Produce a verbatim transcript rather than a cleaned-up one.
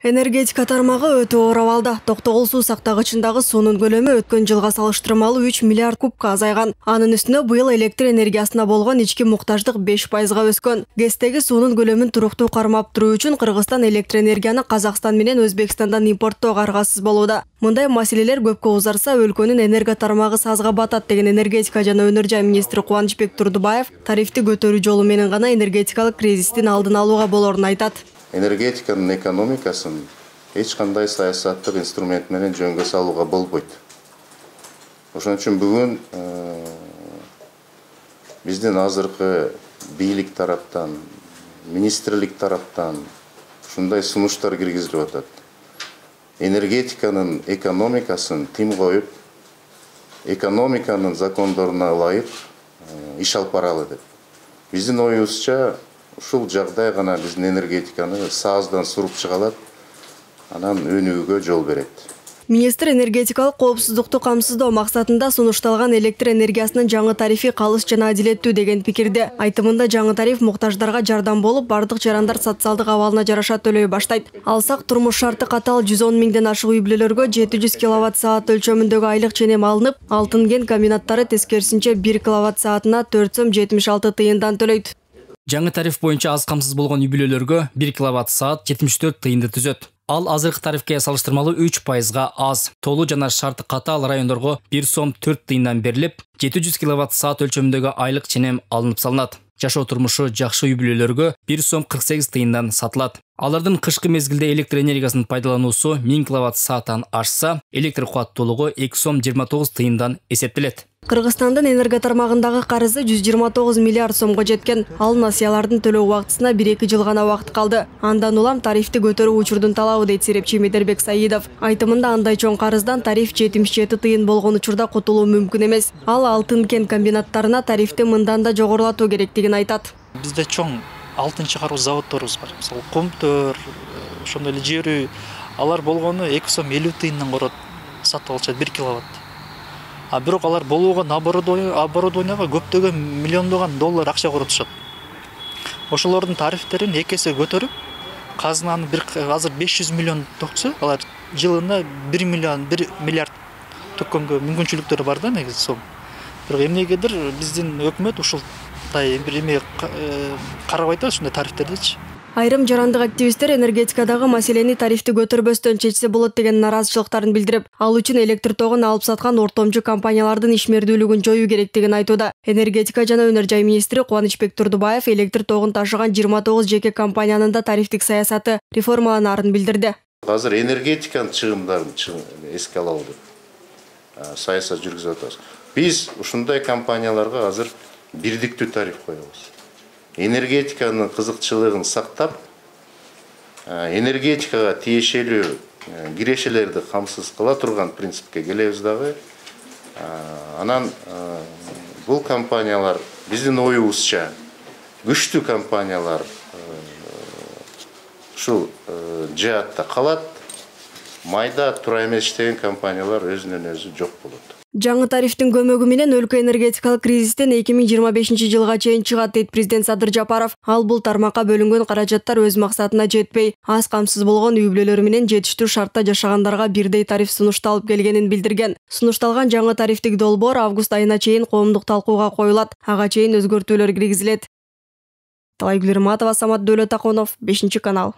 Энергетика тармагы өтө оор абалда. Токтогул суу сактагычындагы суунун көлөмү өткөн жылга салыштырмалуу үч миллиард кубка азайган. Анын үстүнө быйыл электр энергиясына болгон ички муктаждык беш пайызга өскөн. ГЭСтеги суунун көлөмүн туруктуу кармап туруу үчүн Кыргызстан электр энергияны Казакстан менен Өзбекстандан импорттоого аргасыз болууда. Мындай маселелер көпкө узарса, өлкөнүн энерго тармагы сазга батат деген энергетика жана өнөр жай министри Кубанычбек Турдубаев тарифти көтөрүү жолу менен гана энергетикалык кризистин алдын алууга болоорун айтат. Энергетиканын экономикасын эч кандай саясаттык инструмент менен жөнгө салууга болбойт. Ошон үчүн бүгүн биздин азыркы бийлик тараптан, министрлик тараптан ушундай сунуштар киргизилип атат. Энергетиканын экономикасын тим коюп, экономиканын закондоруна ылайык иш алып баралы деп. Биздин оюбузча ушул жагдай гана биздин энергетиканы сааздан суруп чыга алат, анан өнүүгө жол берет. Министр энергетикалык коопсуздукту камсыздоо максатында сунушталган электр энергиясынын жаңы тарифи калыс жана адилеттүү деген пикирде. Айтымында жаңы тариф муктаждарга жардам болуп, бардык жарандар социалдык абалына жараша төлөй баштайт. Алсак, турмуш шарты катал жүз он миңден ашык үй бүлөлөргө жети жүз киловатт саат өлчөмүндөгү айлык ченем алынып, алтын кен комбинаттары тескерисинче бир киловатт саатына төрт сом жетимиш алты тыйындан төлөйт. Жаңы тариф боюнча аз камсыз болгон үй бүлөлөргө бир киловатт саат жетимиш төрт тыйынды түзөт. Ал азыркы тарифке салыштырмалуу үч пайызга аз. Толуу жана шарты катаал райондорго бир сом төрт тыйындан берилип, жети жүз киловатт саат өлчөмүндөгү айлык ченем алынып салынат. Жашоо турмушу жакшы үй бүлөлөргө бир сом кырк сегиз тыйындан сатылат. Алардын кышкы мезгилде электр энергиясынын пайдалануусу миң киловатт сааттан ашса, электр кубаттуулугу эки сом жыйырма тогуз тыйындан эсептелет. Кыргызстандын энерго тармагындагы карызы жүз жыйырма тогуз миллиард сомго жеткен. Ал насыялардын төлөө убактысына бир эки жыл гана убакыт калды. Андан улам тарифти көтөрүү учурдун талабы дейт серепчи Медербек Саидов. Айтымында андай чоң карыздан тариф жетимиш жети тыйын болгон учурда кутулуу мүмкүн эмес. Ал алтын кен комбинаттарына тарифти мындан да жогорулатуу керектигин айтат. Бизде чоң алтын чыгаруу заводдорубуз бар. Мисалы Комтөр, ошондой эле Жер үй, алар болгону эки сом элүү тыйындан корот сатып алышат бир киловатт. А бирок алар болууга оборудованияга көптөгөн миллиондогон доллар акча коротушат. Ошолордун тарифтерин эки эсе көтөрүп, казынаны бир азыр беш жүз миллион токчу, алар жылына бир миллион бир миллиард төккөнгө мүмкүнчүлүктөрү бар да негизи сом. Бирок эмнегедир биздин өкмөт ушулдай бир эме карабай атат ушундай тарифтердичи. Айрым жарандык активисттер энергетикадагы маселени тарифти көтөрбөстөн чечсе болот деген наразычылыктарын билдирип, ал үчүн электр тогун алып саткан ортомчу компаниялардын ишмердүүлүгүн жоюу керектигин айтууда. Энергетика жана өнөр жай министри Кубанычбек Турдубаев электр тогун ташыган жыйырма тогуз жеке компаниянын да тарифтик саясаты реформаланаарын билдирди. Азыр энергетиканын чыгымдарын эске алалы деп саясат жүргүзүп атабыз. Биз ушундай компанияларга азыр бирдиктүү тариф коебуз. Энергетиканын кызыкчылыгын сактап, энергетикага тиешелүү кирешелерди камсыз кыла турган принципке келебиз дагы. Анан бул компаниялар биздин оюбузча күчтүү компаниялар ушул жаатта калат, майда тура эмес иштеген компаниялар өзүнөн өзү жок болот. Жаңы тарифтин көмөгү менен өлкө энергетикалык кризистен эки миң жыйырма бешинчи жылга чейин чыгат дейт президент Садыр Жапаров. Ал бул тармакка бөлүнгөн каражаттар өз максатына жетпей, аз камсыз болгон үй бүлөлөр менен жетиштүү шартта жашагандарга бирдей тариф сунушталып келгенин билдирген. Сунушталган жаңы тарифтик долбоор август айына чейин коомдук талкууга коюлат. Ага чейин өзгөртүүлөр киргизилет. Талайгүл Ирматова, Самат Дөөлөтакунов, бешинчи канал.